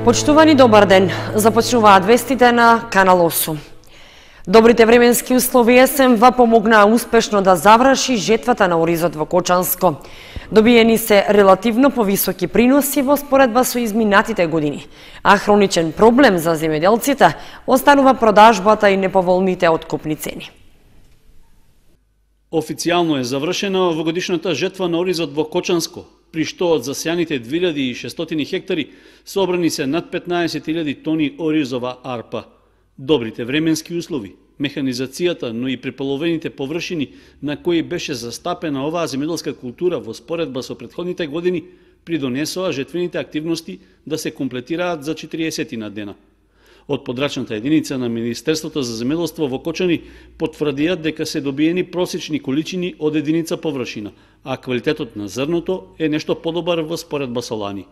Почитувани, добар ден. Започнуваат вестите на Канал 8. Добрите временски услови есенва помогнаа успешно да заврши жетвата на оризот во Кочанско. Добиени се релативно повисоки приноси во споредба со изминатите години, а хроничен проблем за земјоделците останува продажбата и неповолните откупни цени. Официјално е завршена овогодишната жетва на оризот во Кочанско, при што од засејаните 2600 хектари собрани се над 15.000 тони оризова арпа. Добрите временски услови, механизацијата, но и преполовените површини на кои беше застапена оваа земјоделска култура во споредба со претходните години придонесоа жетвените активности да се комплетираат за 40 дена. Од подрачната единица на Министерството за земјоделство во Кочани потврдиат дека се добиени просечни количини од единица површина, а квалитетот на зрното е нешто подобар во споредба со лани.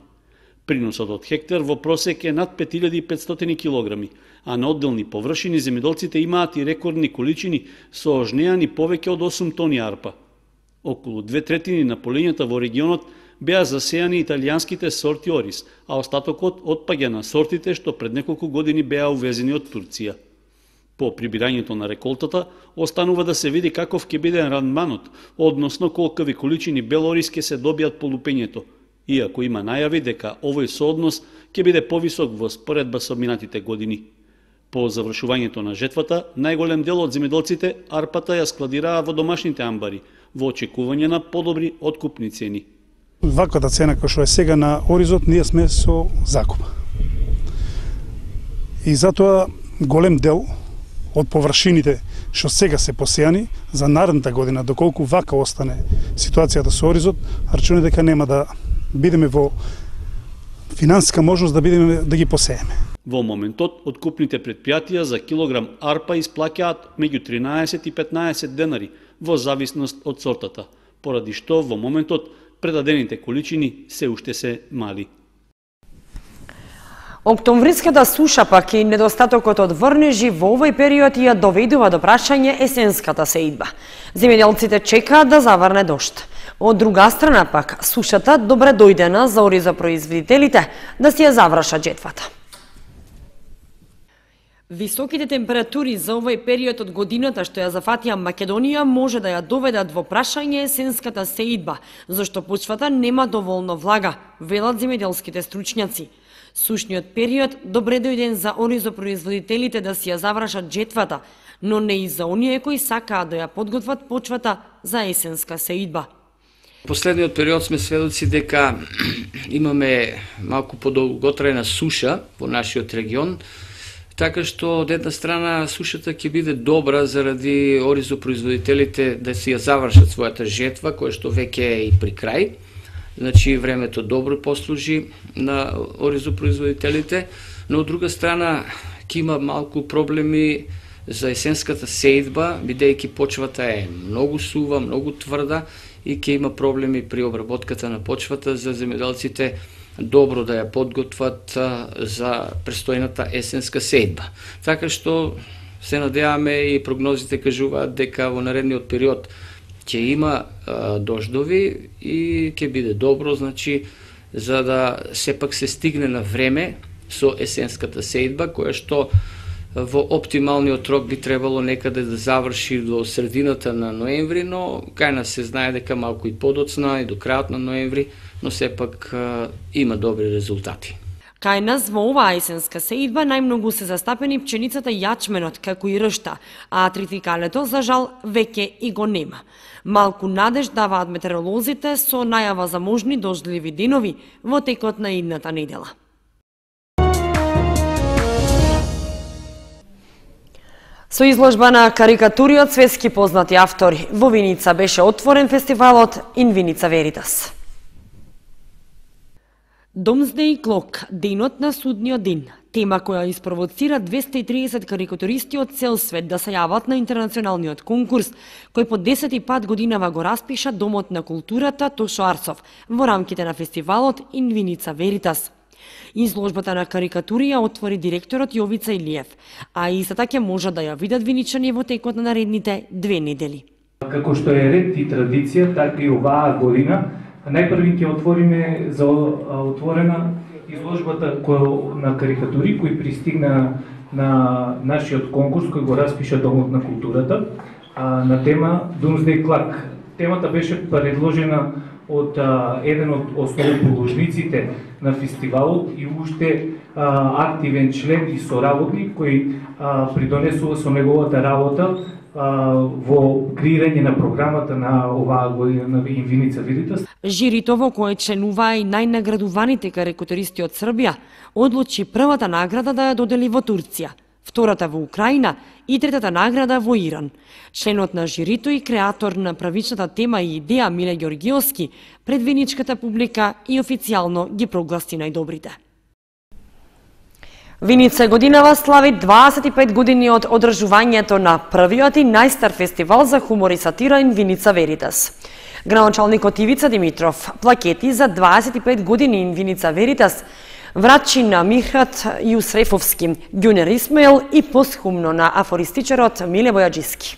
Приносот од хектар во просек е над 5500 килограми, а на одделни површини земјоделците имаат и рекордни количини со ожнеани повеќе од 8 тони арпа. Околу 2/3 на полињата во регионот беа засејани италијанските сорти ориз, а остатокот отпаѓа на сортите што пред неколку години беа увезени од Турција. По прибирањето на реколтата, останува да се види каков ќе биде рандманот, односно колкави количини бел ориз ќе се добијат по лупењето, иако има најави дека овој сооднос ќе биде повисок во споредба со минатите години. По завршувањето на жетвата, најголем дел од земјоделците арпата ја складираа во домашните амбари, во очекување на подобри откупни цени. Ваквата цена која што е сега на оризот, ние сме со закуп. И затоа голем дел од површините што сега се посејани за наредната година, доколку вака остане ситуацијата со оризот, рачуне дека нема да бидеме во финансиска можност да ги посееме. Во моментот, откупните предпријатија за килограм арпа исплаќаат меѓу 13 и 15 денари, во зависност од сортата, поради што во моментот предадените количини се уште се мали. Октомвриската суша пак и недостатокот од врнежи во овој период ја доведува до прашање есенската сеидба. Земјоделците чекаат да заврне дожд. Од друга страна пак, сушата добре дојдена за оризопроизводителите да си ја завршат жетвата. Високите температури за овој период од годината што ја зафатија Македонија може да ја доведат во прашање есенската сеидба, зашто почвата нема доволно влага, велат земјоделските стручњаци. Сушниот период добре дојден за оризопроизводителите да си ја завршат жетвата, но не и за оние кои сакаат да ја подготват почвата за есенска сеидба. Последниот период сме сведоци дека имаме малку подолготрајна суша во нашиот регион, така што од една страна сушата ќе биде добра заради оризопроизводителите да си ја завршат својата жетва, која што веќе е и при крај. Значи времето добро послужи на оризопроизводителите, но од друга страна ќе има малку проблеми за есенската сеидба, бидејќи почвата е многу сува, многу тврда и ќе има проблеми при обработката на почвата за земјоделците добро да ја подготват за престојната есенска сеидба. Така што се надеваме и прогнозите кажуваат дека во наредниот период ќе има дождови и ќе биде добро, значи, за да сепак се стигне на време со есенската сеидба, која што во оптималниот рок би требало некаде да заврши до средината на ноември, но кај нас се знае дека малку и подоцна и до крајот на ноември, но сепак има добри резултати. Кај нас во оваа есенска сеидба најмногу се застапени пченицата и јачменот, како и ршта, а тритикалето, за жал, веќе и го нема. Малку надеж даваат метеоролозите со најава за можни дождливи денови во текот на идната недела. Со изложба на карикатури од светски познати автори, во Виница беше отворен фестивалот In Vinica Veritas. Domesday Clock, денот на судниот ден, тема која испровоцира 230 карикатуристи од цел свет да се јават на интернационалниот конкурс, кој по 10 пат годинава го распиша Домот на културата Тошо Арцов во рамките на фестивалот In Vinica Veritas. Изложбата на карикатури ја отвори директорот Јовица Илиев, а истата ќе можат да ја видат виничани во текот на наредните 2 недели. Како што е ред и традиција, така и оваа година најпрви ќе отвориме за отворена изложбата на карикатури кои пристигна на нашиот конкурс кој го распиша Домот на културата на тема Doomsday Clock. Темата беше предложена од еден од основоположниците на фестивалот и уште активен член и соработник кој придонесува со неговата работа во креирање на програмата на оваа година на Инвиница Веритас. Жирито во кое членуваа и најнаградуваните карикатуристи од Србија одлучи првата награда да ја додели во Турција, втората во Украина и третата награда во Иран. Членот на жирито и креатор на правичната тема и идеја Миле Ѓоргиовски пред виничката публика и официјално ги прогласи најдобрите. Виница годинава слави 25 години од одржувањето на првиот и најстар фестивал за хумор и сатира Инвиница Веритас. Градоначалникот Ивица Димитров плакети за 25 години Инвиница Веритас врачи на Мирхат Јусрефовски, Ѓунер Исмаил и посхумно на афористичарот Миле Бојаджиски.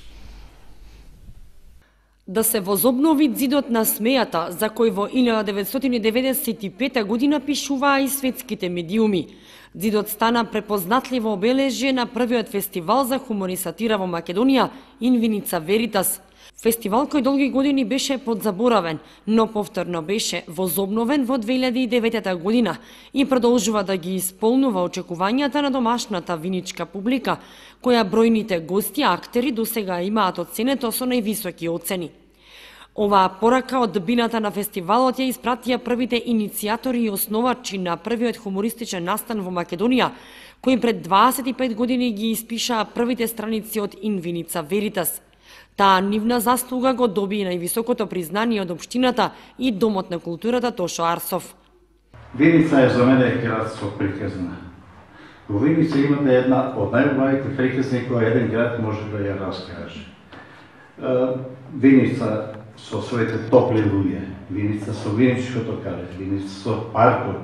Да се возобнови зидот на смејата, за кој во 1995 година пишуваа и светските медиуми. Зидот стана препознатливо обележје на првиот фестивал за хумор и сатира во Македонија, Инвиница Веритас. Фестивал кој долги години беше подзаборавен, но повторно беше возобновен во 2009 година и продолжува да ги исполнува очекувањата на домашната виничка публика, која бројните гости актери досега имаат оценето со највисоки оцени. Оваа порака од бината на фестивалот ја испратија првите иницијатори и основачи на првиот хумористичен настан во Македонија, кои пред 25 години ги испишаа првите страници од Инвиница Веритас. Таа нивна заслуга го доби највисокото признание од општината и Домот на културата Тошо Арсов. Виница е за мене град со приказна. Во Виница имате една од најубавите приказни која еден град може да ја раскаже. Виница со своите топли луѓе, Виница со виничкото кале, Виница со паркот,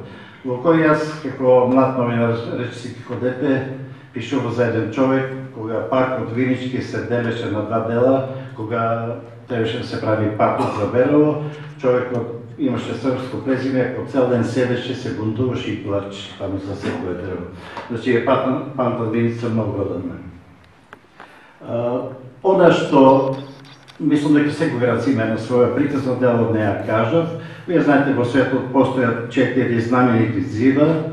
во кој јас како млад новинар речиси како дете пишува за еден човек, кога паркот Винички се делеше на два дела, кога требаше да се прави паркот за Белово, човекот имаше српско презиме, по цел ден седеше, се бунтуваше и плаче, таму за секој древо. Значи, памтат Виница многу од мене. Она што мислам дека секој град има една своја приказна, дел од неја кажав. Вие знаете, во светот постојат 4 знаменити зида.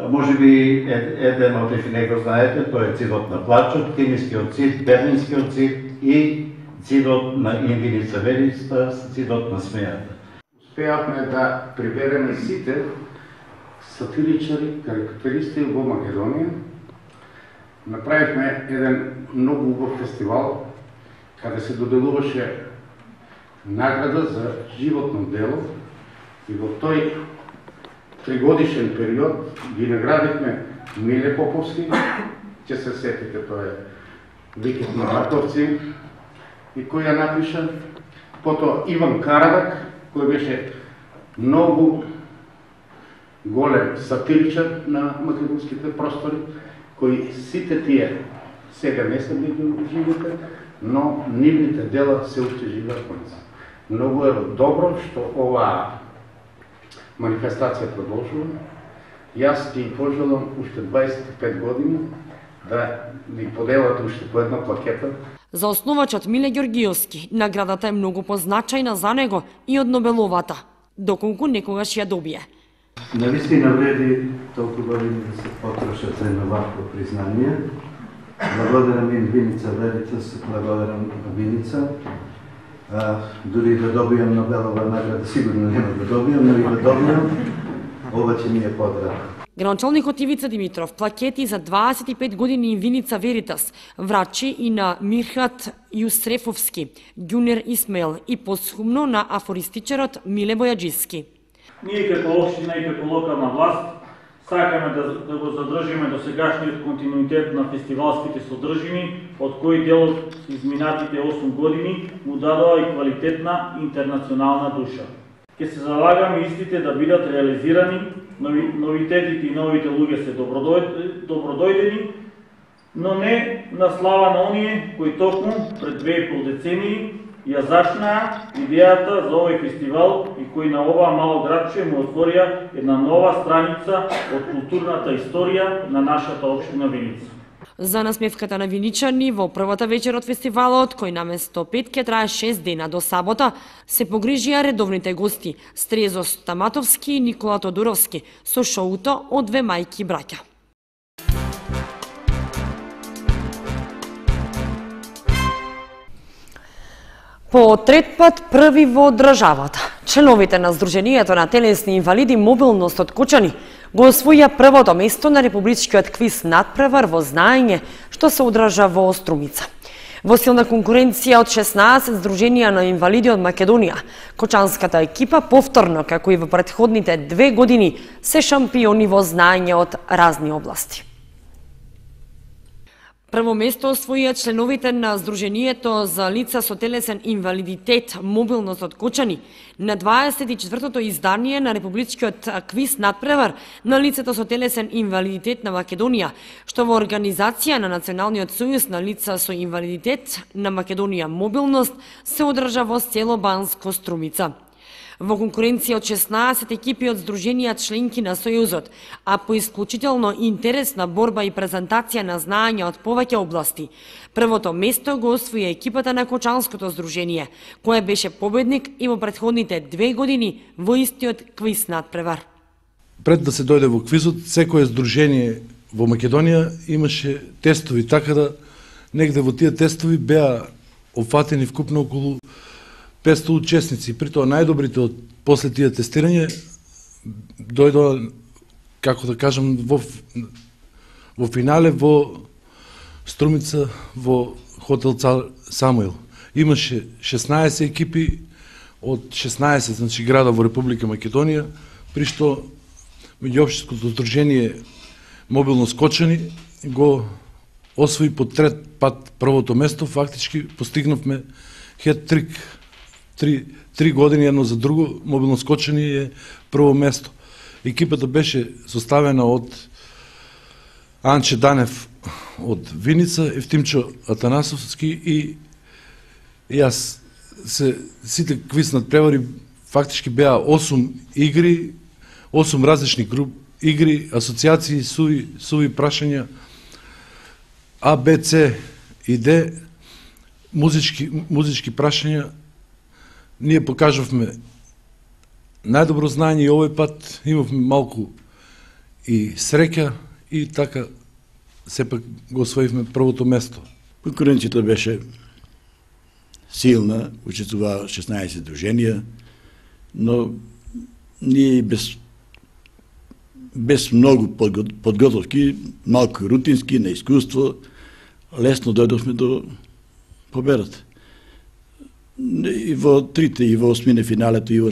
Може би еден од нив не го знаете, тој е зидот на плачот, Кемискиот зид, Берлинскиот зид и зидот на Инвиница Веритас, зидот на смејата. Успеавме да прибереме сите сатиричари, карикатуристи во Македонија. Направивме еден многу убав фестивал, каде се доделуваше награда за животно дело и во тој тригодишен период ги наградивме Миле Поповски, ќе се сетите, тоа е Викет на Батовци, и кој ја напиша, потоа Иван Карадак, кој беше многу голем сатиричар на македонските простори, кои сите тие сега не се били живите, но нивните дела се уште живеат во нас. Многу е добро што оваа манифестација продолжува. Јас ти пожелам уште 25 години да ни поделат уште по една плакета. За основачот Миле Ѓоргиовски, наградата е многу позначајна за него и од Нобеловата, доколку некогаш ја добие. Навистина вреди толку години да се потрошат за едно вакво признание. Благодарам Инвиница Веритас, благодарам Виница. Дури да добијам Нобелова награда, сигурно нема да добијам, но и да добијам, ова ќе ми е подраго. Градоначалникот Ивица Димитров плакети за 25 години Инвиница Веритас врачи и на Мирхат Јусрефовски, Ѓунер Исмаил и посхумно на афористичарот Миле Бојаджиски. Ние како општина и како локална власт сакаме да го задржиме досегашниот континуитет на фестивалските содржини, од кои делот изминатите 8 години му дадоа и квалитетна интернационална душа. Ке се залагаме истите да бидат реализирани, новитетите и новите луѓе се добродојдени, но не на слава на оние кои токму пред 2,5 децении ја зачнаа идејата за овој фестивал и кои на оваа мало градче му отворија една нова страница од културната историја на нашата општина Виница. За насмевката на виничани во првата вечер од фестивалот, кој наместо 5 ќе трае 6 дена до сабота, се погрижија редовните гости Стрезо Стаматовски и Никола Тодоровски со шоуто од две мајки браќа. По трет пат први во државата, членовите на Сдруженијето на телесни инвалиди мобилност од Кочани го освоја првото место на републичкиот квиз надпревар во знаење што се одржа во Струмица. Во силна конкуренција од 16 Сдруженија на инвалиди од Македонија, кочанската екипа повторно, како и во претходните 2 години, се шампиони во знаење од разни области. Прво место освоија членовите на Сдруженијето за лица со телесен инвалидитет мобилност од Кочани на 24-тото издание на републичкиот квиз надпревар на лицето со телесен инвалидитет на Македонија, што во организација на Националниот сојуз на лица со инвалидитет на Македонија мобилност се одржа во село Банско Струмица. Во конкуренција од 16 екипи од Сдруженија членки на Сојузот, а по исклучително интересна борба и презентација на знаење од повеќе области, првото место го освои екипата на Кочанското Сдружение, која беше победник и во претходните 2 години во истиот квиз надпревар. Пред да се дојде во квизот, секое здружение во Македонија имаше тестови, така да негде во тие тестови беа опфатени вкупно околу 500 учесници. При тоа најдобрите од после тие тестирање дојдоа, како да кажам, во финале во Струмица во хотел Цар Самуил. Имаше 16 екипи од 16 значи града во Република Македонија, при што меѓуопштинското здружение Мобилност Кочани го освои по трет пат првото место. Фактички постигнавме хет-трик. 3 години едно за друго, Мобилност Кочани е прво место. Екипата беше составена од Анче Данев од Виница, Евтимчо Атанасовски и јас. Сите квиз надпревари фактички беа 8 игри, 8 различни игри, асоциации, суви прашања, А, Б, С и Д, музички прашања. Ние покажавме најдобро знаење и овој пат имавме малку и среќа и така сепак го освоивме првото место. Конкуренцијата беше силна, учествуваа 16 друженија, но ние без многу подготовки, малку рутински, на искуство, лесно дојдовме до победата. И во трите, и во осмине финалето, и во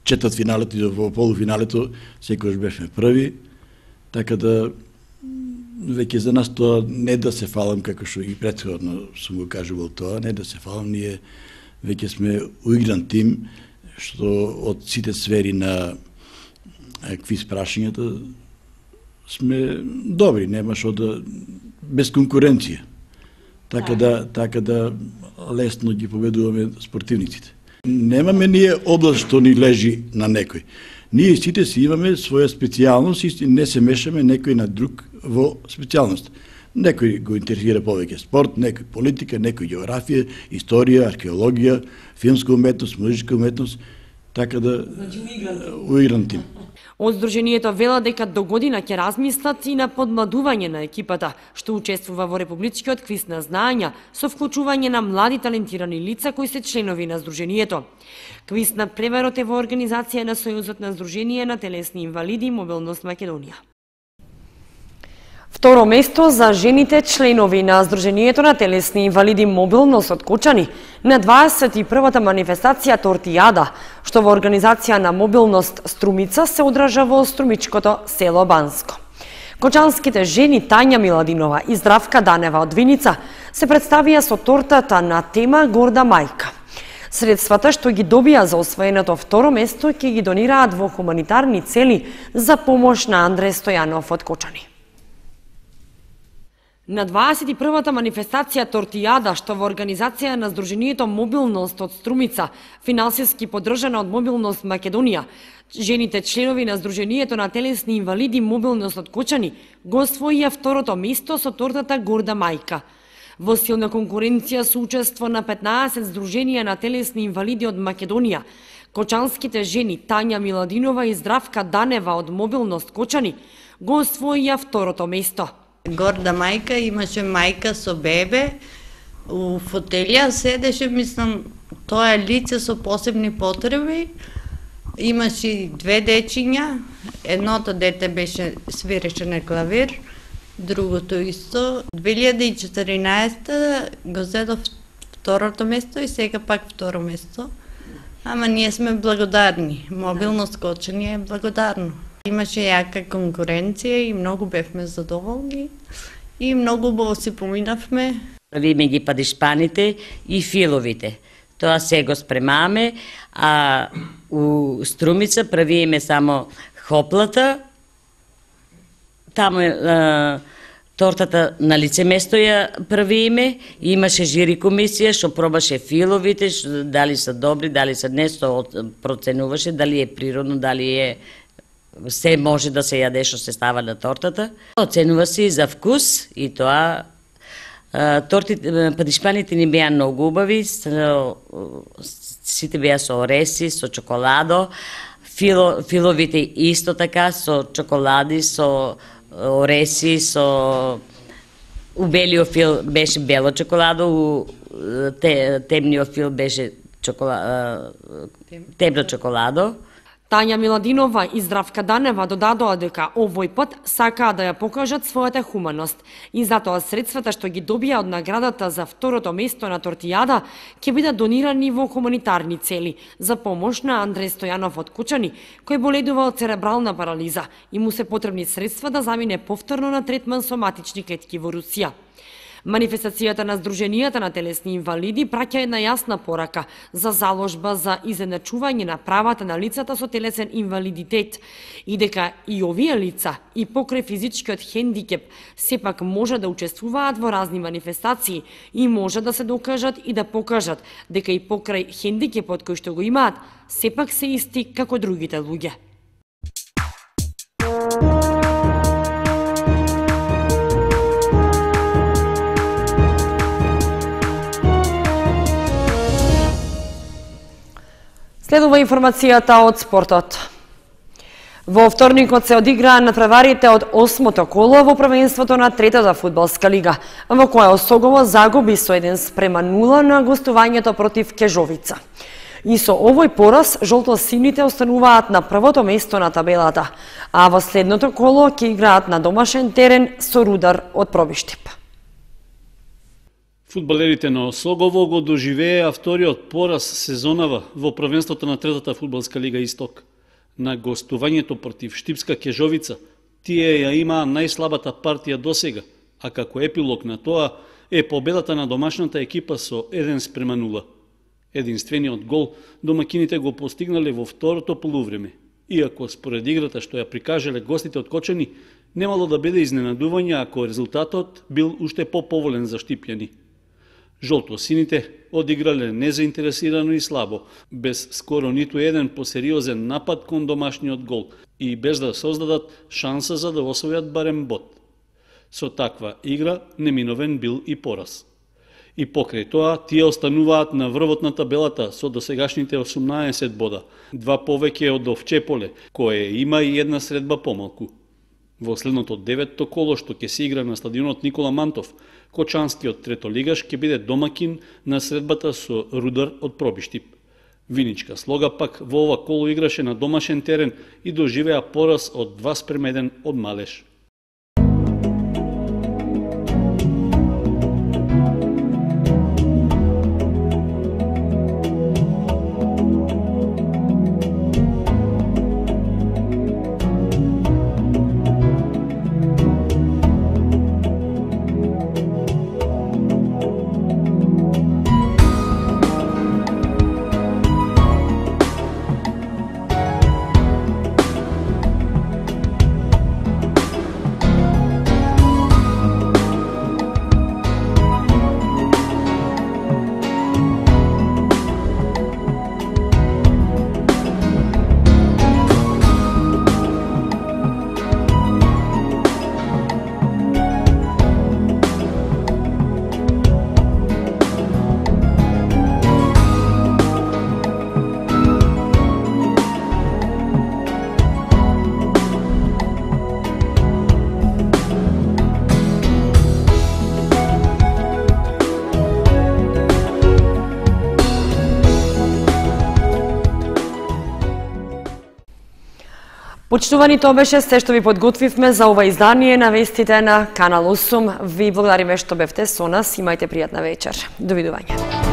четврт финалето, и во полуфиналето, секојаш бевме први, така да веќе за нас тоа не да се фалам, како што и претходно сум го кажувал тоа, не да се фалам, ние веќе сме уигран тим, што од сите сфери на квиз прашањата сме добри, нема што да без конкуренција. Така да лесно ги победуваме спортивниците. Немаме ние област што ни лежи на некој. Ние сите си имаме своја специјалност и не се мешаме некој на друг во специјалност. Некој го интересира повеќе спорт, некој политика, некој географија, историја, археологија, филмска уметност, музичка уметност, така да уигран тим. Од Сдруженијето вела дека до година ќе размислат и на подмладување на екипата, што учествува во републичкиот квиз на знаења со вклучување на млади талентирани лица кои се членови на Сдруженијето. Квиз на преварот е во организација на Сојузот на Сдруженија на телесни инвалиди Мобилност Македонија. Второ место за жените членови на Сдруженијето на телесни инвалиди Мобилност од Кочани на 21-та манифестација Тортијада, што во организација на Мобилност Струмица се одржа во струмичкото село Банско. Кочанските жени Тања Миладинова и Здравка Данева од Виница се представија со тортата на тема Горда мајка. Средствата што ги добија за освоеното второ место ќе ги донираат во хуманитарни цели за помош на Андре Стојанов од Кочани. На 21-та манифестација Тортијада, што во организација на Сдруженијето Мобилност од Струмица, финансиски поддржана од Мобилност Македонија, жените членови на Сдруженијето на телесни инвалиди Мобилност од Кочани го освоија второто место со тортата Горда мајка. Во силна конкуренција со учество на 15 Сдруженија на телесни инвалиди од Македонија, кочанските жени Тања Миладинова и Здравка Данева од Мобилност Кочани го освоија второто место. Горда мајка имаше мајка со бебе, у фотелија седеше, мислам, тоа е лице со посебни потреби. Имаше две дечиња, едното дете беше свиреше на клавир, другото исто. 2014 го зедов второто место и сега пак второ место. Ама ние сме благодарни. Мобилност Кочани е благодарно. Имаше јака конкуренција и многу бевме задоволни и многу убаво си поминавме. Правиме ги падишпаните и филовите. Тоа се го спремаме, а у Струмица правиме само хоплата. Таму тортата на лице место ја правиме. Имаше жири комисија што пробаше филовите, дали се добри, дали се не, што проценуваше, дали е природно, дали е се може да се јаде што се става на тортата. Оценува се и за вкус и тоа падишпаните ни беа многу убави, сите беа со ореси, со чоколадо, филовите исто така со чоколади, со ореси, со убелиот фил беше бело чоколадо, у темниот фил беше темно чоколадо. Тања Миладинова и Здравка Данева додадоа дека овој пат сакаа да ја покажат својата хуманост и затоа средствата што ги добија од наградата за второто место на Тортијада ќе бидат донирани во хуманитарни цели за помош на Андреј Стојанов од Кочани, кој боледува од церебрална парализа и му се потребни средства да замине повторно на третман со матични клетки во Русија. Манифестацијата на Сдруженијата на телесни инвалиди праќа една јасна порака за заложба за изедначување на правата на лицата со телесен инвалидитет и дека и овие лица и покрај физичкиот хендикеп сепак може да учествуваат во разни манифестации и може да се докажат и да покажат дека и покрај хендикепот кој што го имаат сепак се исти како другите луѓе. Следува информацијата од спортот. Во вторникот се одиграа надпреварите од 8-то коло во првенството на третата фудбалска лига, во која Осогово загуби со 1:0 на гостувањето против Кежовица. И со овој пораз жолто-сините остануваат на првото место на табелата, а во следното коло ќе играат на домашен терен со Рудар од Пробиштип. Фудбалерите на Осогово го доживееа вториот пораз сезонава во првенството на третата фудбалска лига Исток. На гостувањето против Штипска Кежовица, тие ја имаа најслабата партија досега, а како епилог на тоа е победата на домашната екипа со 1:0. Единствениот гол домакините го постигнале во второто полувреме, иако според играта што ја прикажале гостите од Кочани, немало да биде изненадување ако резултатот бил уште поповолен за штипјани. Жолто-сините одиграле незаинтересирано и слабо, без скоро ниту еден посериозен напад кон домашниот гол и без да создадат шанса за да освојат барем бод. Со таква игра неминовен бил и пораз. И покрај тоа, тие остануваат на врвот на табелата со досегашните 18 бода, 2 повеќе од Овчеполе, кое има и една средба помалку. Во следното 9-то коло што ќе се игра на стадионот Никола Мантов, Кочанскиот третолигаш ќе биде домакин на средбата со Рудар од Пробиштип. Виничка Слога пак во ова коло играше на домашен терен и доживеа пораз од 2:1 од Малеш. Почитувани, тоа беше се што ви подготвивме за ова издание на вестите на Канал 8. Ви благодариме што бевте со нас. Имајте пријатна вечер. Довидување.